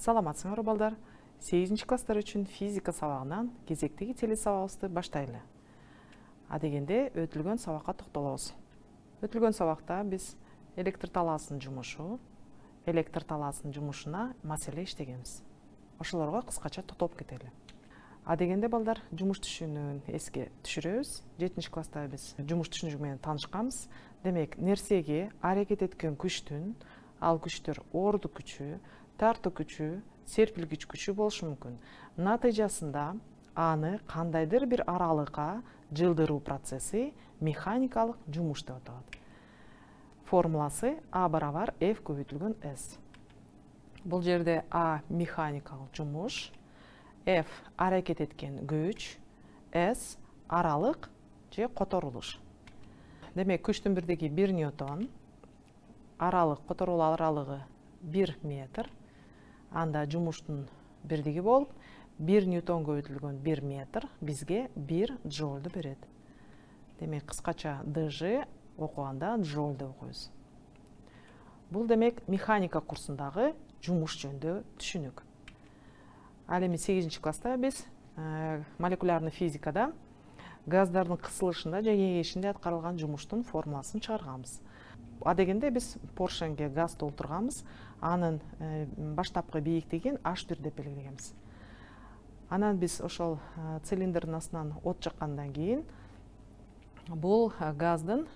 Саламатсыңарбы балдар? 8 класстар үчүн физика сабагынан кезектеги теле сабагыбызды баштайлы. Адегенде өтүлгөн сабакка токтолобуз. Өтүлгөн сабакта биз электр талаасынын жумушуна маселе иштегенбиз. Ошолорго кыскача токтолуп кетели. Адегенде балдар жумуш түшүнүүнү эске түшүрөбүз. 7 класста биз жумуш түшүнүгү менен таанышканбыз. Демек, нерсеге аракет эткөн күчтүн, ал күчтөр ордук күчү, тартуу күчү, серпилгич күчү болушу мүмкүн. Натыйжасында аны кандайдыр бир аралыкка жылдыруу процесси механикалык жумуш деп аталат. Формуласы А барабар F көбөйтүлгөн S. Бул жерде А механикалык жумуш, F аракет эткен күч, S аралык же которулуш. Демек, күчтүн бирдиги 1 ньютон, аралык которулуу аралыгы 1 метр. Анда жумуштун бирдиги болуп, 1 ньютон көбөйтүлгөн 1 метр бизге 1 джоулду берет. Демек, кыскача ДЖ окуганда джоуль деп окуйбуз. Бул демек механика курсундагы жумуш жөнүндө түшүнүк. Ал эми 8 класста биз молекулярный физикада газдардын кысылышында же кеңейишинде аткарылган жумуштун формуласын чыгарганбыз. Адегенде биз поршенге газ толтурганбыз, анын баштапкы бийиктигин H1 деп белгилегенбиз. Анан биз ошол цилиндрдин астынан от жаккандан кийин бул газдын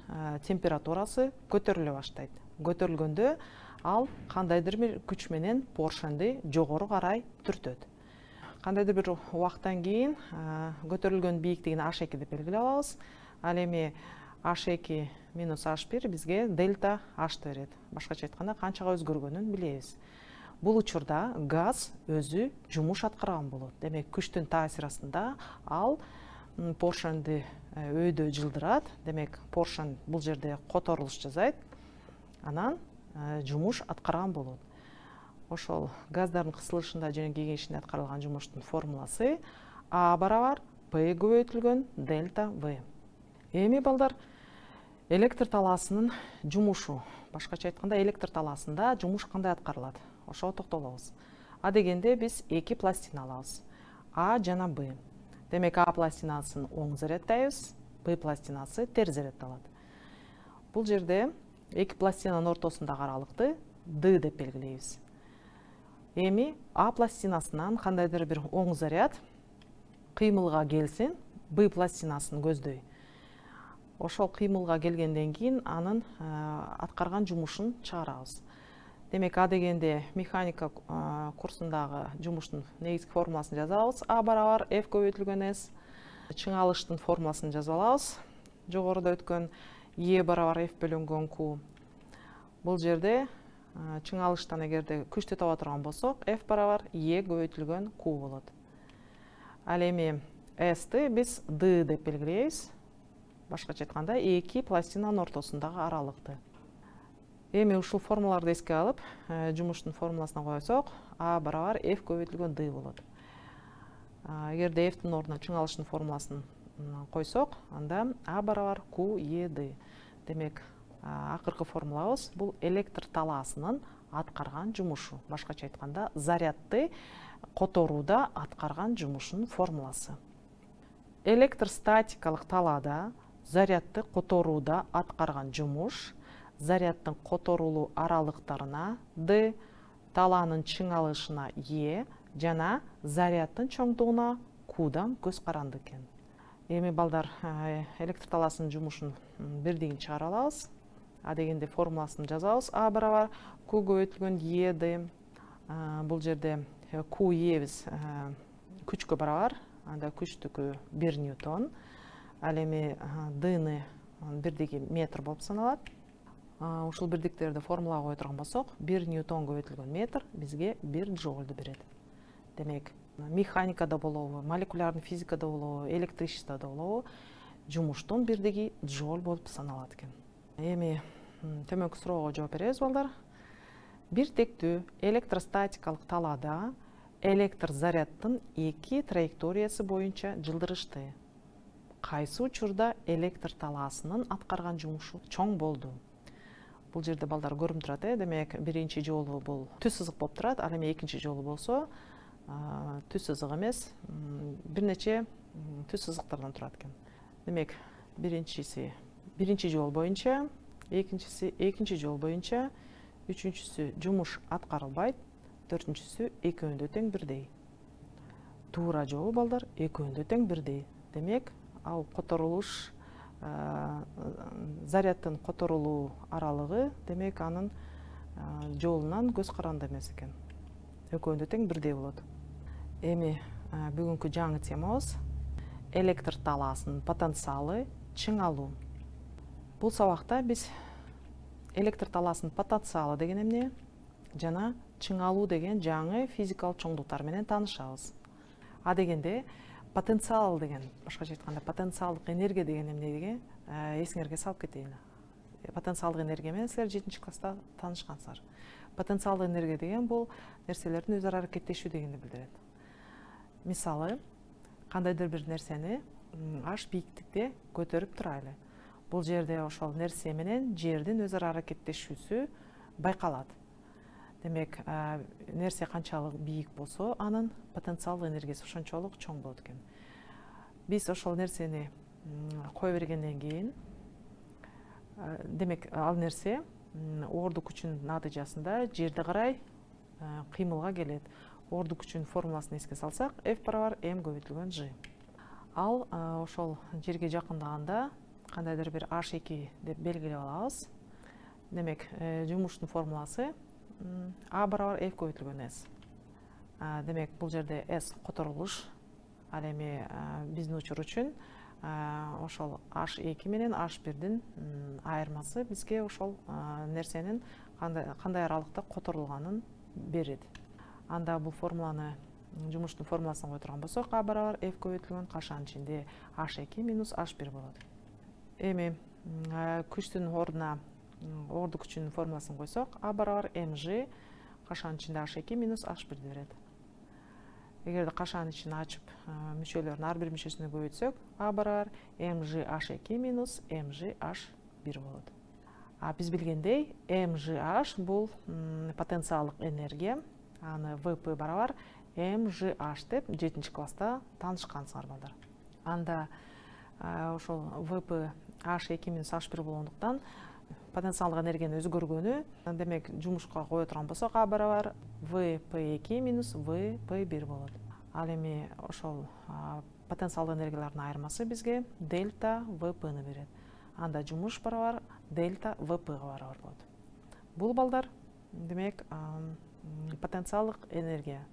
температурасы көтөрүлө баштайт. Көтөрүлгөндө ал кандайдыр бир күч менен поршенди жогору карай түртөт. Кандайдыр бир убакыттан кийин көтөрүлгөн бийиктигин H2 деп белгилеп алабыз. Ал эми H2 минус H1 бизге дельта H берет. Башкача айтканда, канчага өзгөргөнүн билебиз. Бул учурда газ өзү жумуш аткарган болот. Демек, күчтүн таасири астында ал поршенди өйдө жылдырат. Демек, поршен бул жерде которулуш жасайт. Анан жумуш аткарган болот. Ошол газдардын кысылышында жана кеңейишинде аткарылган жумуштун формуласы А барабар P көбөйтүлгөн дельта V. Эми балдар, электр талаасынын жумушу, башкача айтканда, электр талаасында жумуш кандай аткарылат? Ошого токтолобуз. Адегенде биз 2 пластина алабыз, А жана Б. Демек, А пластинасын оң заряддайбыз, Б пластинасы терс заряддалат. Бул жерде 2 пластинанын ортосундагы аралыкты D деп белгилейбиз. Эми А пластинасынан кандайдыр бир оң заряд кыймылга келсин, Б пластинасын көздөй. Ошол кыймылга келгенден кийин анын аткарган жумушун чыгарабыз. Демек, А дегенде механика курсундагы жумуштун негизги формуласын жазып алабыз. А барабар F көбөйтүлгөн S. Чыңалыштын формуласын жазып алабыз. Жогоруда өткөн E барабар F бөлүнгөн Q. Бул жерде чыңалыштан эгерде күчтү таба турган болсок, F барабар E көбөйтүлгөн Q болот. Ал эми S'ти биз D деп белгилейбиз. Башкача айтканда, 2 пластинанын ортосундагы аралыкты. Эми ушул формулаларды эске алып, жумуштун формуласына койсок, А барабар F көбөйтүлгөн D болот. Эгерде F'тин ордуна чыңалыштын формуласын койсок, анда А барабар Q E D. Демек, акыркы формулабыз бул электр талаасынын аткарган жумушу. Башкача айтканда, зарядды которууда аткарган жумушунун формуласы. Электростатикалык талаада зарядды которууда аткарган жумуш заряддын которулуу аралыктарына D, талаанын чыңалышына E жана заряддын чоңдугуна Q'дан көз каранды экен. Эми балдар, электр талаасынын жумушунун бирдигин чыгара алабыз. А дегенде формуласын жазабыз. А барабар Q көбөйтүлгөн E D. Бул жерде Q E биз күчкө барабар. Анда күчтүкү 1 ньютон. Ал эми D'ны бирдиги метр болуп саналат. Ушул бирдиктерди формулага кое турган болсок, 1 ньютон көбөйтүлгөн метр бизге 1 джоулду берет. Демек, механикада болобу, молекулярный физикада болобу, электричестводо болобу, жумуштун бирдиги джоуль болуп саналат экен. Эми төмөнкү суроого жооп беребиз, балдар. Бир тектүү электростатикалык талаада электр заряддын 2 траекториясы боюнча жылдырышты. Кайсы учурда электр талаасынын аткарган жумушу чоң болду? бул жерде балдар көрүнүп турат. Демек биринчи жолу бул түз сызык болуп турат. Ал эми экинчи жолу болсо түз сызык эмес, бир нече түз сызыктардан турат экен. Демек биринчи жол боюнча, экинчи жол боюнча, үчүнчүсү жумуш аткарылбайт, төртүнчүсү экөөнү тең бирдей. Туура жол балдар экөөнү тең бирдей. Демек ал которулуш, зарядтын которулуу аралыгы, демек анын жолунан көз каранды эмес экен. Экөөнү тең бирдей болот. Эми бүгүнкү жаңы темабыз электр талаасынын потенциалы чыңалуу. Бул сабакта биз электр талаасынын потенциалы деген эмне жана чыңалуу деген жаңы физикалык чоңдуктар менен таанышабыз. А дегенде потенциал деген, башкача айтканда потенциалдык энергия деген эмне деген эсиңерге салып кетейин. Потенциалдык энергия менен силер 7-чи класста таанышкансыздар. Потенциалдык энергия деген бул нерселердин өз ара аракеттешүү дегенди билдирет. Мисалы, кандайдыр бир нерсени аш бийиктикте көтөрүп турайлы. Бул жерде ошол нерсе менен жердин өз ара аракеттешүүсү байкалат. Демек, нерсе канчалык бийик болсо, анын потенциалдык энергиясы ошончолук чоң болот экен. Биз ошол нерсени кое бергенден кийин, демек, ал нерсе оордук күчүнүн натыйжасында жерди карай кыймылга келет. Оордук күчүнүн формуласын эске салсак, F = m көбөйтүлгөн G. Ал ошол жерге жакындаганда кандайдыр бир H2 деп белгилеп алабыз. Демек, жумуштун формуласы A = F көбөйтүлгөн S. Демек, бул жерде S которулуш. Ал эми биздин учур үчүн ошол H2 менен H1-дин айырмасы бизге ошол нерсенин кандай аралыкта которулганын берет. Анда бул формуланы, жумуштун формуласын кое турган болсок, A = F көбөйтүлгөн кашанын ичинде H2 - H1 болот. Эми күчтүн ордуна оордук күчүнүн формуласын койсок, A = mg кашанын ичинде H2 - H1 берет. Эгерде кашанын ичин ачып, мүчөлөрдүн ар бир мүчөсүнө көбөйтсөк, A = mg H2 - mg H1 болот. Биз билгендей, mgh бул потенциалдык энергия. Аны VP = mgh деп 7-чи класста таанышкансыңар балдар. Анда ошол VP H2 - H1 болгондуктан потенциалдык энергиянын өзгөргөнү, демек, жумушка кое турган болсок, A = VP2 - VP1 болот. Ал эми ошол потенциалдык энергиялардын айырмасы бизге дельта VP-ны берет. Анда жумуш барабар дельта VP-га барабар болот. Бул балдар, демек, потенциалдык энергия.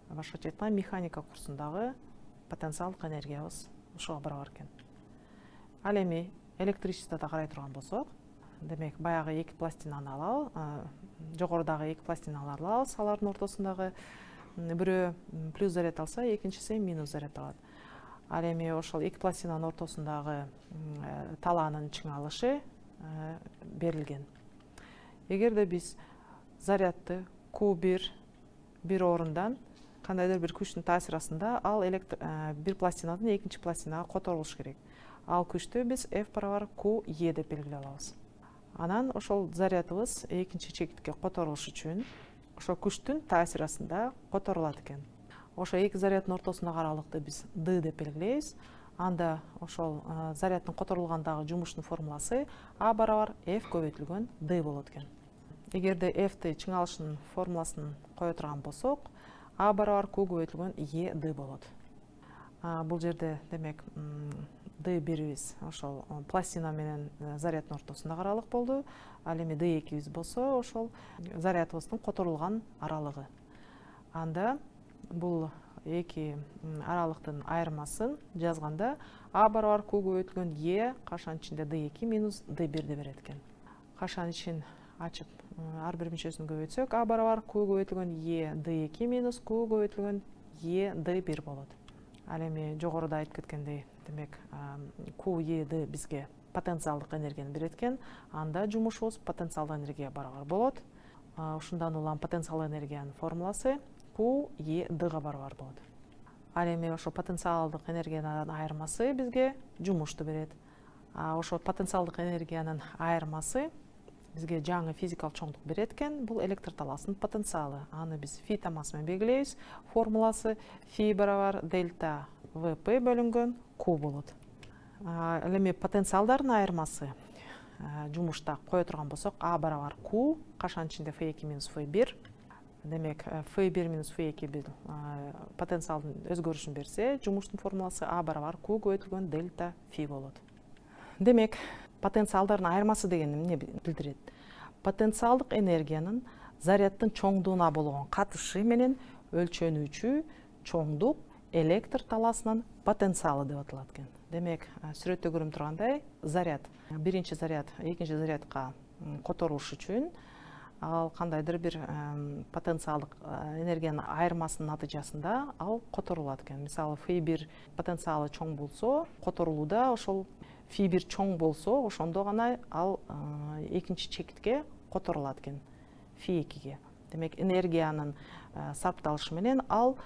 Башкача айтканда, механика курсундагы потенциалдык энергиябыз ушуга барабар экен. Ал эми электричестводо карай турган болсок, демек, баягы эки пластинаны алабыз, жогорудагы эки пластиналарды алабыз, алардын ортосундагы бирөө плюс заряд алса, экинчиси минус заряд алат. Ал эми ошол эки пластинанын ортосундагы талаанын чыңалышы берилген. Эгерде биз зарядты Q1 бир орундан кандайдыр бир күчтүн таасири астында ал бир пластинадан экинчи пластинага которулуш керек. Ал күчтү биз F = QE деп белгилеп алабыз. Анан ошол зарядыбыз экинчи чекитке которулуш үчүн ошол күчтүн таасири астында которулат экен. Ошо эки заряддын ортосундагы аралыкты биз D деп белгилейбиз. Анда ошол заряддын которулгандагы жумуштун формуласы A = F көбөйтүлгөн D болот экен. Эгерде F-ти чыңалышынын формуласын кое турган болсок, A = Q көбөйтүлгөн E D болот. Бул жерде, демек, D бирибиз ошол пластина менен заряддын ортосундагы аралык болду. Ал эми D2 болсо, ошол зарядыбыздын которулган аралыгы. Анда бул эки аралыктын айырмасын жазганда A = Q көбөйтүлгөн E кашанын ичинде D2 - D1 берет экен. Кашанын ичин ачып, ар бир мүчөсүн көбөйтсөк, A = Q көбөйтүлгөн E D2 - Q көбөйтүлгөн E D1 болот. Ал эми жогоруда айтып кеткендей, демек, QE бизге потенциалдык энергияны берет экен. Анда жумушубуз потенциалдык энергияга барабар болот. Ушундан улам потенциалдык энергиянын формуласы QE-га барабар болот. Ал эми ошо потенциалдык энергиянын айырмасы бизге жумушту берет. Ошо потенциалдык энергиянын айырмасы бизге жаңы физикалык чоңдук берет экен. Бул электр талаасынын потенциалы. Аны биз фи тамасы менен белгилейбиз. Формуласы фи барабар дельта ВП бөлүнгөн Q болот. Ал эми потенциалдардын айырмасы жумушта кое турган болсок, А барабар Q кашан ичинде F2 минус F1. Демек, F1 минус F2 бул потенциалдын өзгөрүшүн берсе, жумуштун формуласы А барабар Q көбөйтүлгөн дельта фи болот. Демек, потенциалдардын айырмасы деген эмне билдирет? Потенциалдык энергиянын заряддын чоңдугуна болгон катышы менен өлчөнүүчү чоңдук электр талаасынын потенциалы деп аталат экен. Демек, сүрөттө көрүнүп тургандай, заряд, биринчи заряд экинчи зарядка которуш үчүн ал кандайдыр бир потенциалдык энергиянын айырмасынын натыйжасында ал которулат экен. Мисалы, F1 потенциалы чоң болсо, которулууда ошол F1 чоң болсо, ошондо гана ал экинчи чекитке которулат экен, F2ге. Демек, энергиянын сарпталышы менен ал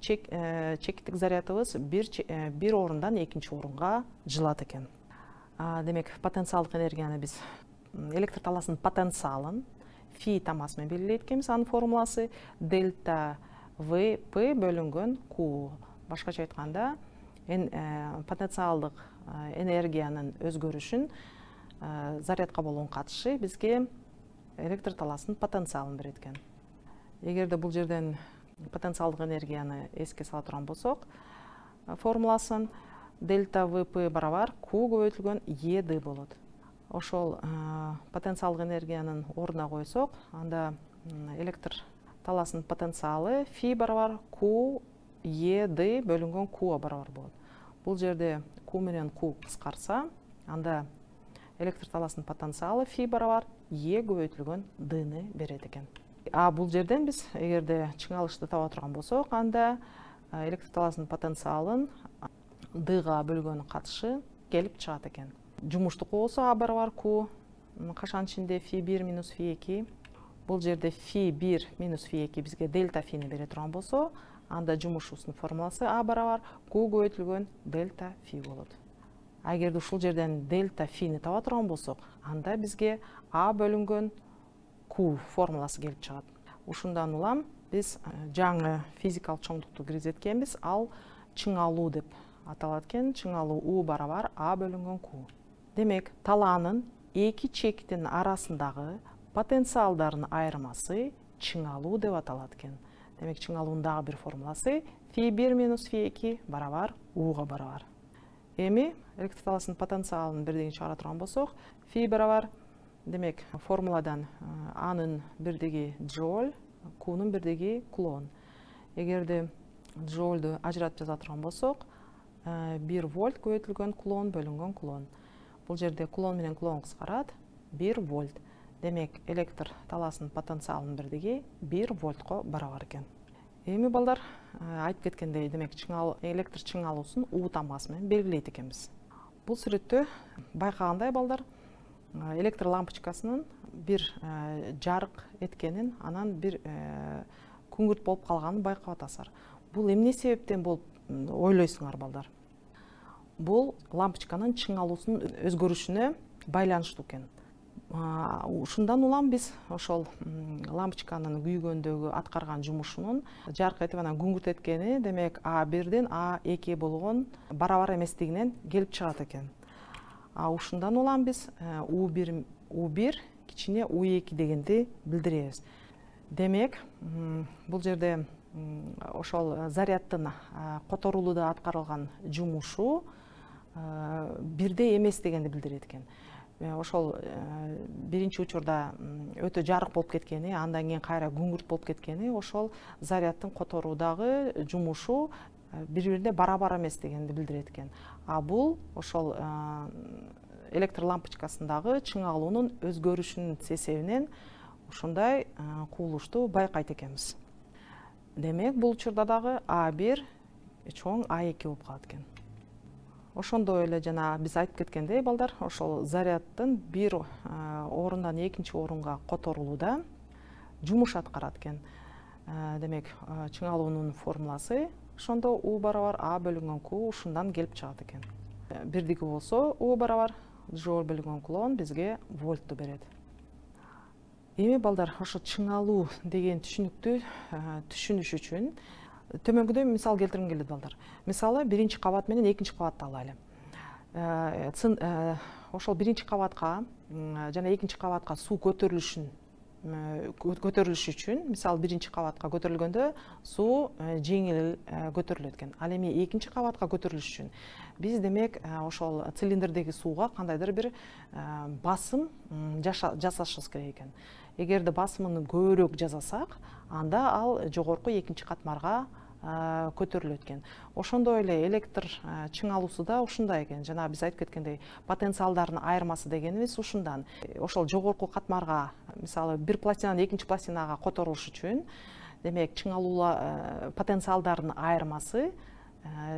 чекиттик зарядыбыз бир орундан экинчи орунга жылат экен. Демек, потенциалдык энергияны биз электр талаасынын потенциалын фи тамасы менен белгилейт экенбиз. Анын формуласы дельта ВП бөлүнгөн Q. Башкача айтканда, потенциалдык энергиянын өзгөрүшүн, зарядка болгон катышы бизге электр талаасынын потенциалын берет экен. Эгерде бул жерден потенциалдык энергияны эске сала турган болсок, формуласын дельта ВП барабар Q көбөйтүлгөн ЕД болот. Ошол потенциалдык энергиянын ордуна койсок, анда электр талаасынын потенциалы фи барабар Q ЕД бөлүнгөн Q барабар болот. Бул жерде Q менен Q кыскарса, анда электр талаасынын потенциалы фи барабар Е көбөйтүлгөн Д'ны берет экен. Бул жерден биз эгерде чыңалышты таба турган болсок, анда электр талаасынын потенциалын Д'га бөлгөн катышы келип чыгат экен. Жумуштук болсо А барабар Q кашан ичинде F1 минус F2. Бул жерде F1 минус F2 бизге дельта фини бере турган болсо, анда жумушубуздун формуласы А барабар Q көбөйтүлгөн дельта фи болот. Эгерде ушул жерден дельта фини таба турган болсок, анда бизге А бөлүнгөн Q формуласы келип чыгат. Ушундан улам биз жаңы физикалык чоңдукту киргизеткенбиз, ал чыңалуу деп аталат экен. Чыңалуу U барабар А бөлүнгөн Q. Демек, талаанын эки чектин арасындагы потенциалдардын айырмасы чыңалуу деп аталат экен. Демек, чыңалуунун дагы бир формуласы F1 минус F2 барабар U'га барабар. Эми электр талаасынын потенциалын бирдигин чыгара турган болсок, Фи барабар, демек, формуладан Анын бирдиги джоуль, Q'нун бирдиги кулон. Эгерде джоульду ажыратып жаза турган болсок, 1 вольт көбөйтүлгөн кулон бөлүнгөн кулон. Бул жерде кулон менен кулон кыскарат, 1 вольт. Демек, электр талаасынын потенциалынын бирдиги 1 вольтко барабар экен. Эми балдар, айтып кеткендей, демек, электр чыңалуусун U тамасы менен белгилейт экенбиз. Бул сүрөттө байкагандай балдар, электр лампочкасынын бир жарык эткенин, анан бир күңүрт болуп калганын байкап атасыздар. Бул эмне себептен болуп ойлойсуңар балдар? Бул лампочканын чыңалуусунун өзгөрүшүнө байланыштуу экен. Ушундан улам биз ошол лампочканын күйгөндөгү аткарган жумушунун жарык этип анан күңүрт эткени, демек, А1ден А2 болгон барабар эместигинен келип чыгат экен. Ушундан улам биз U1 кичине U2 дегенди билдиребиз. Демек, бул жерде ошол заряддын которулууда аткарылган жумушу бирдей эмес дегенди билдирет экен. Ошол биринчи учурда өтө жарык болуп кеткени, андан кийин кайра күңүрт болуп кеткени, ошол заряддын которуудагы жумушу бири-бирине барабар эмес дегенди билдирет экен. Бул ошол электр лампочкасындагы чыңалуунун өзгөрүшүнүн себебинен ушундай кубулушту байкайт экенбиз. Демек, бул учурда дагы А1 чоң А2 болуп калат экен. Ошондой эле жана биз айтып кеткендей балдар, ошол заряддын бир орундан экинчи орунга которулууда жумуш аткарат экен. Демек, чыңалуунун формуласы ошондо U барабар А бөлүнгөн Q ушундан келип чыгат экен. Бирдиги болсо U барабар джоуль бөлүнгөн кулон бизге вольтту берет. Эми балдар, ошо чыңалуу деген түшүнүктү түшүнүш үчүн төмөнгүдөй мисал келтиргим келет балдар. Мисалы, биринчи кабат менен экинчи кабатты алайлы. Ошол биринчи кабатка жана экинчи кабатка суу көтөрүлүш үчүн, мисалы, биринчи кабатка көтөрүлгөндө суу жеңил көтөрүлөт экен. Ал эми экинчи кабатка көтөрүлүш үчүн биз демек ошол цилиндрдеги сууга кандайдыр бир басым жасашыбыз керек экен. Эгерде басымын көбүрөөк жасасак, анда ал жогорку экинчи катмарга көтөрүлөт экен. Ошондой эле электр чыңалуусу да ушундай экен. Жана биз айтып кеткендей, потенциалдардын айырмасы дегенибиз ушундан. Ошол жогорку катмарга, мисалы, бир пластинанын экинчи пластинага которулуш үчүн, демек чыңалуу потенциалдардын айырмасы,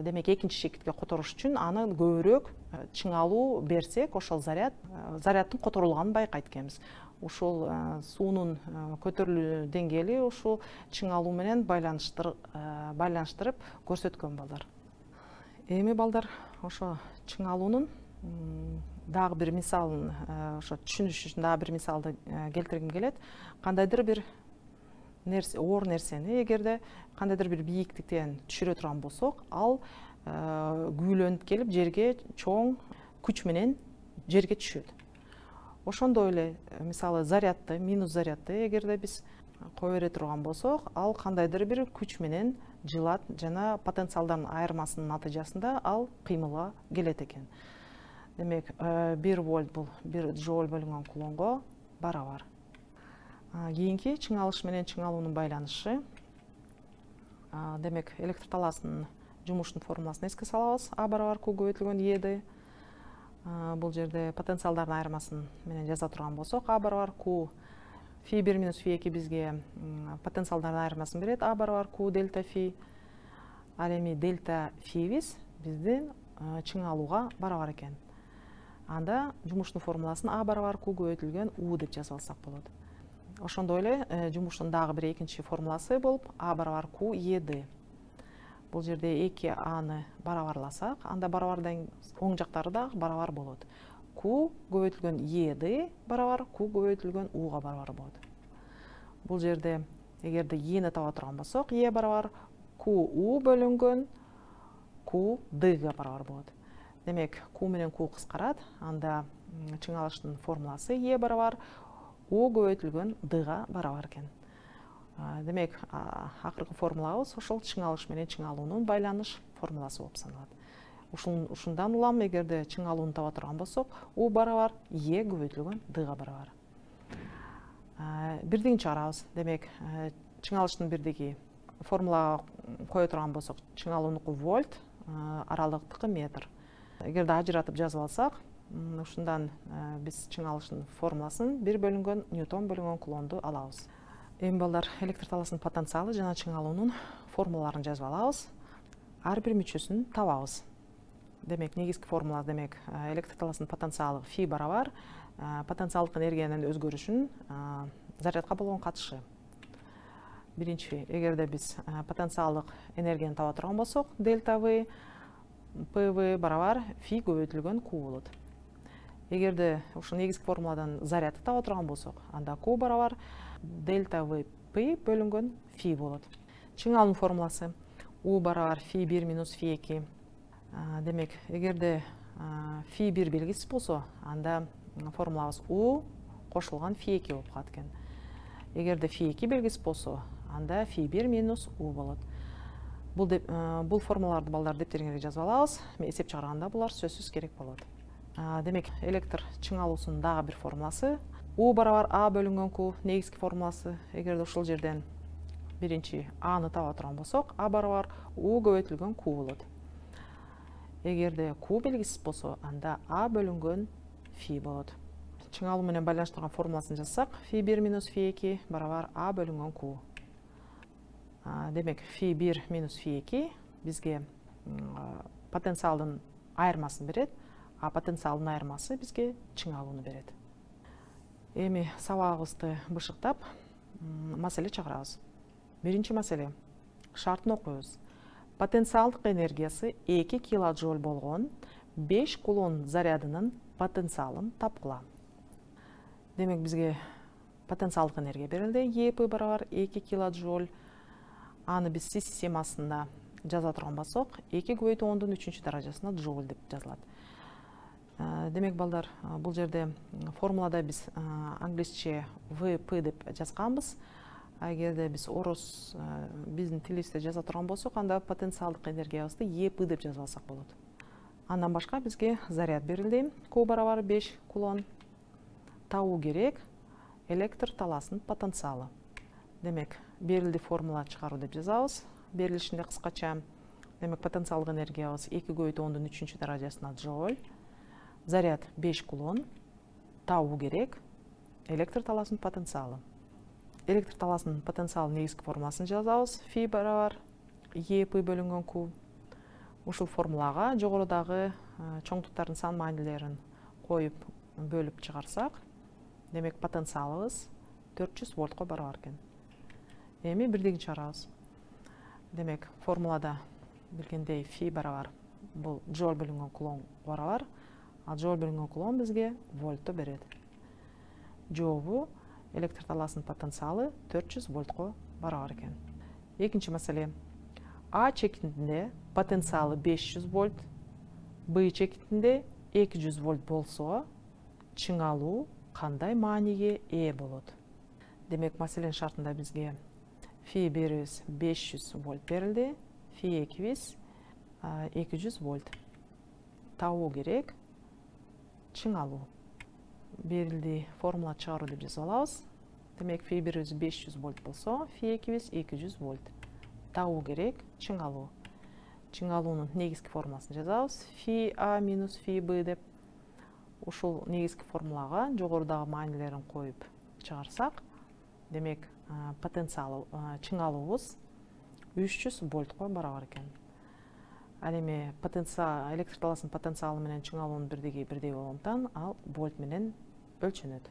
демек экинчи чекитке которуш үчүн аны көбүрөөк чыңалуу берсек, ошол заряддын которулганын байкайт экенбиз. Ушул суунун көтөрүлүү деңгээли ушул чыңалуу менен байланыштырып көрсөткөн балдар. Эми балдар, ошо чыңалуунун дагы бир мисалын, ошо түшүнүш үчүн дагы бир мисалды келтиргим келет. Кандайдыр бир оор нерсени эгерде кандайдыр бир бийиктиктен түшүрө турган болсок, ал күүлөнүп келип жерге чоң күч менен жерге түшөт. Ошондой эле, мисалы, зарядды, минус зарядды эгерде биз кое бере турган болсок, ал кандайдыр бир күч менен жылат жана потенциалдардын айырмасынын натыйжасында ал кыймылга келет экен. Демек, 1 вольт бул 1 джоуль бөлүнгөн кулонго барабар. Кийинки чыңалыш менен чыңалуунун байланышы. Демек, электр талаасынын жумуштун формуласын эске салабыз. А барабар Q көбөйтүлгөн E'ди. Бул жерде потенциалдардын айырмасын менен жаза турган болсок, А барабар Q φ1 минус φ2 бизге потенциалдардын айырмасын берет. А барабар Q дельта φ. Ал эми дельта φ'биз биздин чыңалууга барабар экен. Анда жумуштун формуласын А барабар Q көбөйтүлгөн U деп жазып алсак болот. Ошондой эле жумуштун дагы бир экинчи формуласы болуп А барабар Q E'ди. Бул жерде 2 A'ны барабарласак, анда барабардан оң жактары да барабар болот. Q көбөйтүлгөн E'ди барабар Q көбөйтүлгөн U'га барабар болот. Бул жерде эгерде E'ни таба турган болсок, E барабар QU бөлүнгөн Q D'га барабар болот. Демек, Q менен Q кыскарат, анда чыңалыштын формуласы E барабар U көбөйтүлгөн D'га барабар экен. Демек, акыркы формулабыз ошол чыңалыш менен чыңалуунун байланыш формуласы болуп саналат. Ушундан улам эгерде чыңалууну таба турган болсок, U барабар E көбөйтүлгөн D'га барабар. Бирдигин чыгарабыз. Демек, чыңалыштын бирдиги формулага кое турган болсок, чыңалуунуку вольт, аралыктыкы метр. Эгерде ажыратып жазып алсак, ушундан биз чыңалыштын формуласын 1 бөлүнгөн ньютон бөлүнгөн кулонду алабыз. Эми балдар, электр талаасынын потенциалы жана чыңалуунун формулаларын жазып алабыз. Ар бир мүчөсүн табабыз. Демек, негизги формула, демек, электр талаасынын потенциалы φ барабар потенциалдык энергиянын өзгөрүшүн зарядка болгон катышы. Биринчи, эгерде биз потенциалдык энергияны таба турган болсок, дельта V, PV барабар φ көбөйтүлгөн Q болот. Эгерде ушул негизги формуладан зарядты таба турган болсок, анда Q барабар дельта V P бөлүнгөн φ болот. Чыңалуунун формуласы U барабар φ1 минус φ2. Демек, эгерде φ1 белгисиз болсо, анда формулабыз U кошулган φ2 болуп калат экен. Эгерде φ2 белгисиз болсо, анда φ1 минус U болот. Бул формулаларды балдар дептериңерге жазып алабыз. Эсеп чыгарганда булар сөзсүз керек болот. Демек, электр чыңалуусунун дагы бир формуласы U барабар A бөлүнгөн Q, негизги формуласы. Эгерде ушул жерден биринчи A'ны таба турган болсок, А барабар U көбөйтүлгөн Q болот. Эгерде Q белгисиз болсо, анда А бөлүнгөн φ болот. Чыңалуу менен байланыштырган формуласын жазсак, φ1 минус φ2 барабар А бөлүнгөн Q. Демек, φ1 минус φ2 бизге потенциалдын айырмасын берет, а потенциалдын айырмасы бизге чыңалууну берет. Эми сабагыбызды бышыктап, маселе чыгарабыз. Биринчи маселе. Шартын окуйбуз. Потенциалдык энергиясы 2 килоджоуль болгон 5 кулон зарядынын потенциалын тапкыла. Демек, бизге потенциалдык энергия берилди. еп барабар 2 килоджоуль. Аны биз Си системасында жаза турган болсок, 2 көбөйтүү 10-дун 3-чү даражасына джоуль деп жазылат. Демек балдар, бул жерде формулада биз англисче ВП деп жазганбыз. Эгерде биз орус биздин тилибизде жаза турган болсок, анда потенциалдык энергиябызды еп деп жазып алсак болот. Андан башка бизге заряд берилди. Q барабар 5 кулон. Табуу керек электр талаасынын потенциалы. Демек, берилди формула чыгаруу деп жазабыз. Берилишинде кыскача, демек потенциалдык энергиябыз 2 көбөйтүү 10-дун 3-чү даражасына джоуль. Заряд 5 кулон. Табуу керек электр талаасынын потенциалы. Электр талаасынын потенциалынын негизги формуласын жазабыз. Фи барабар еп бөлүнгөн Q. Ушул формулага жогорудагы чоңдуктардын сан маанилерин коюп бөлүп чыгарсак, демек потенциалыбыз 400 вольтко барабар экен. Эми бирдигин чыгарабыз. Демек формулада билгендей фи барабар бул джоуль бөлүнгөн кулон барабар, а джоуль бөлүнгөн кулон бизге вольтту берет. Жообу электр талаасынын потенциалы 400 вольтко барабар экен. Экинчи маселе. А чекитинде потенциалы 500 вольт, Б чекитинде 200 вольт болсо, чыңалуу кандай мааниге ээ болот? Демек, маселенин шартында бизге фи берибиз 500 вольт берилди, фи экибиз 200 вольт. Табуу керек чыңалуу. Берилди формула чыгаруу деп жазып алабыз. Демек, фи берибиз 500 вольт болсо, фи экибиз 200 вольт. Табуу керек чыңалуу. Чыңалуунун негизги формуласын жазабыз. Фи А минус фи Б деп. Ушул негизги формулага жогорудагы маанилерин коюп чыгарсак, демек потенциалы чыңалуубуз 300 вольтко барабар экен. Ал эми электр талаасынын потенциалы менен чыңалуунун бирдиги бирдей болгондуктан ал вольт менен өлчөнөт.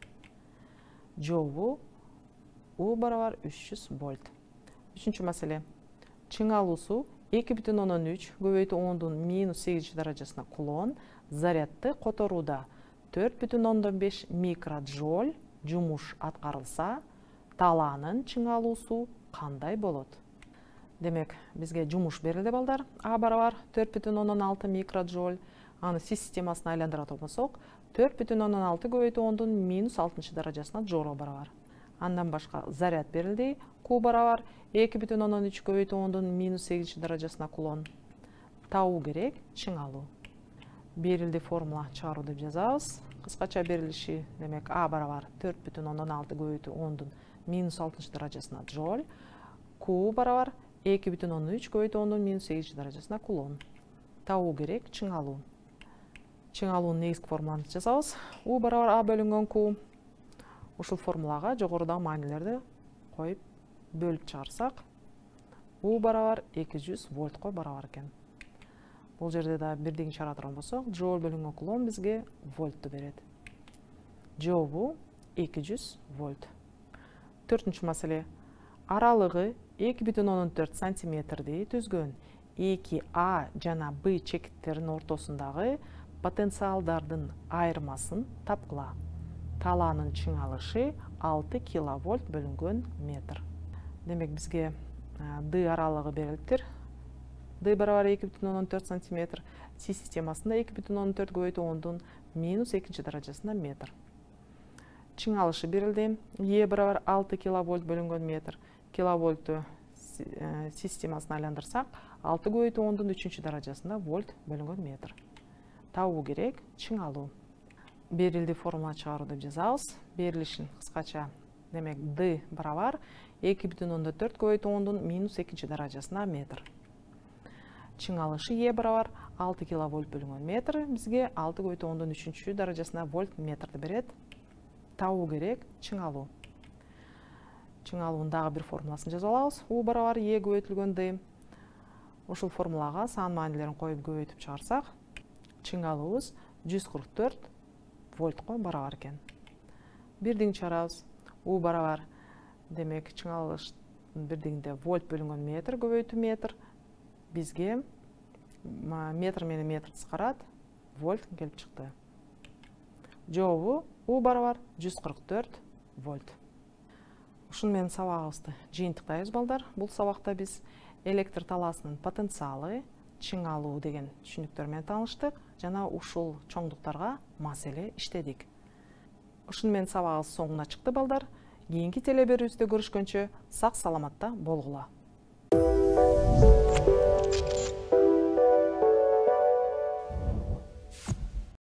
Жообу У барабар 300 вольт. Үчүнчү маселе. Чыңалуусу 2,3 көбөйтүү 10-дун минус 8 даражасына кулон зарядты которууда 4,5 микроджоуль жумуш аткарылса, талаанын чыңалуусу кандай болот? Демек, бизге жумуш берилди балдар. А барабар 4,6 микроджоуль. Аны Си системасына айландыра турсак, 4,6 көбөйтүү 10-дун минус 6 даражасына джоулга барабар. Андан башка заряд берилди. Q барабар 2,3 көбөйтүү 10-дун минус 8 даражасына кулон. Табуу керек чыңалуу. Берилди формула чыгаруу деп жазабыз. Кыскача берилиши, демек, А барабар 4,6 көбөйтүү 10-дун минус 6 даражасына джоуль. Q барабар 2,3 көбөйтүү 10-дун минус 8 даражасына кулон. Табуу керек чыңалуу. Чыңалуунун негизги формуласын жазабыз. У барабар А бөлүнгөн Q. Ушул формулага жогорудагы маанилерди коюп бөлүп чыгарсак, У барабар 200 вольтко барабар экен. Бул жерде да бирдигин чыгара турган болсок, джоуль бөлүнгөн кулон бизге вольтту берет. Жообу 200 вольт. Төртүнчү маселе. Аралыгы 2,4 сантиметрди түзгөн 2А жана Б чекиттеринин ортосундагы потенциалдардын айырмасын тапкыла. Талаанын чыңалышы 6 киловольт бөлүнгөн метр. Демек, бизге Д аралыгы берилиптир. Д барабар 2,4 сантиметр. Си системасында 2,4 көбөйтүү 10-дун минус 2 даражасына метр. Чыңалышы берилди. Е барабар 6 киловольт бөлүнгөн метр. Киловольтту системасына айландырсак, 6 көбөйтүү 10-дун 3 даражасында вольт бөлүнгөн метр. Табуу керек чыңалуу. Берилди формула чыгаруу деп жазабыз. Берилишин кыскача, демек, Д барабар 2,4 көбөйтүү 10-дун минус 2 даражасына метр. Чыңалышы Е барабар 6 киловольт бөлүнгөн метр. Бизге 6 көбөйтүү 10-дун 3 даражасына вольт метрди берет. Табуу керек чыңалуу. Чыңалуунун дагы бир формуласын жазып алабыз. У барабар Е көбөйтүлгөн Д. Ушул формулага сан маанилерин коюп көбөйтүп чыгарсак, чыңалуубуз 144 вольтко барабар экен. Бирдигин чыгарабыз. У барабар, демек, чыңалыштын бирдигинде вольт бөлүнгөн метр көбөйтүү метр. Бизге метр менен метр кыскарат, вольт келип чыкты. Жообу У барабар 144 вольт. Ушуну менен сабагыбызды жыйынтыктайбыз балдар. Бул сабакта биз электр талаасынын потенциалы, чыңалуу деген түшүнүктөр менен тааныштык жана ушул чоңдуктарга мас эле иштедик. Ушуну менен сабагыбыз соңуна чыкты балдар. Кийинки теле берүүбүздө көрүшкөнчө сак саламатта болгула.